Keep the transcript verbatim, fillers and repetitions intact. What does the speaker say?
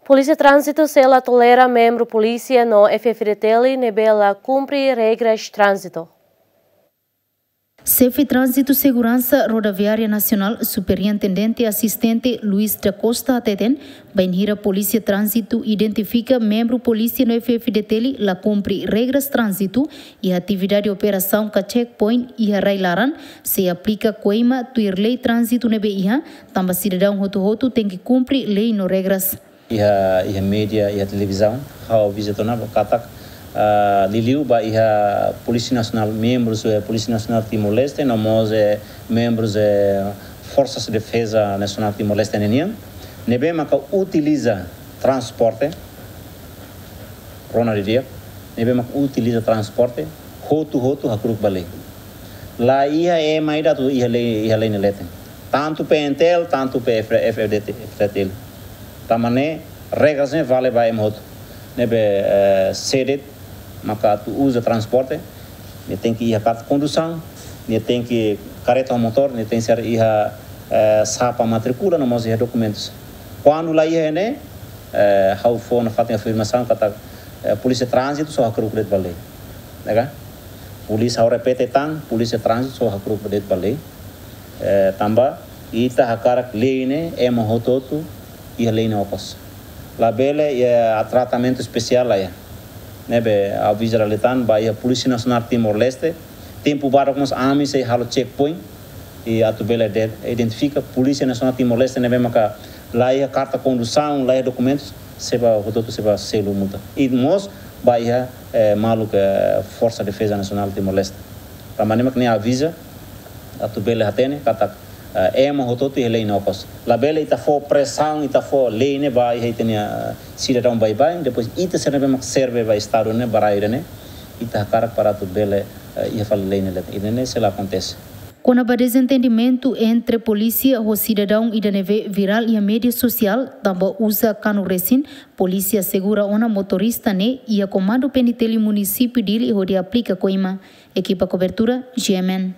Polísia Tránzitu sei la tolera membru polísia no F-FDTL ne'ebé la kumpre regras tránzitu. Xefe Tránzitu Seguransa Rodoviária Nasionál, Superintendente Asistente Luis da Costa hateten, bainhira Polísia Tránzitu identifika membru polísia no F-FDTL la kumpre regras tránzitu iha atividade operasaun ka checkpoint iha rai-laran, sei aplika koima tuir lei tránzitu ne'ebé iha, tanba sidadaun hotu-hotu tenke kumpre lei no regras. Iha, iha média, iha televizaun, ha'u aviza tiha ona katak, ah, liuliu ba iha Polísia Nasionál, membrus, eh, Polísia Nasionál Timor-Leste, no mós, eh, membrus, eh, Forsas Defeza Nasionál Timor-Leste ninian, ne'ebé maka utiliza transporte, rona didi'ak, ne'ebé maka utiliza transporte, hotu-hotu hakru'uk ba lei. La iha ema ida atu iha lei, iha lei nia leten. Tantu P N T L, tantu P F, F F D T, F F D T L. Tanba ne'e, regras ne'e vale ba ema hotu. Ne'ebé, eh, sé de'it maka atu uza transporte, nia tenke iha karta kondusaun, nia tenke kareta ho motór, nia tenke ser iha, eh, xapa matríkula, no mós iha dokumentus. Kuandu la iha ne'e, eh, ha'u fó nafatin afirmasaun katak, eh, Polísia Tránzitu só hakru'uk de'it ba lei. Nega? Polísia, ha'u repete tan, Polísia Tránzitu só hakru'uk de'it ba lei. Eh, tanba, ita hakarak lei ne'e, ema hotu-hotu, iha lei nia okos. Labele, iha tratamentu espesiál la iha. Ne'ebé, aviza dala ida tan, ba iha Polísia Nasionál Timor-Leste, tempu badak mós ami sei halo checkpoint, i atu bele de-, identifika Polísia Nasionál Timor-Leste ne'ebé maka la iha karta kondusaun, la iha dokumentus, sei ba hotu-hotu sei ba selu multa. I mós ba iha, eh, maluk, eh, Forsa Defeza Nasionál Timor-Leste. Tanba ne'e mak nia aviza, atu bele hatene, katak, eh, ema hotu-hotu iha lei nia okos. Labele ita fó presaun, ita fó lei ne'e ba iha ita-nia, eh, sidadaun baibain, depois ita sira ne'ebé mak serve ba Estadu ne'e, ba rai ida-ne'e, ita hakarak para atu bele, eh, iha fali lei nia leten. Ida-ne'e sei la akontese. Kona-ba dezentendimentu entre polísia ho sidadaun ida ne'ebé virál iha média sosiál, tanba uza kanu resin, polísia asegura ona motorista ne'e iha Komandu P N T L Munisípiu Dili hodi aplika koima. Ekipa kobertura, G M N.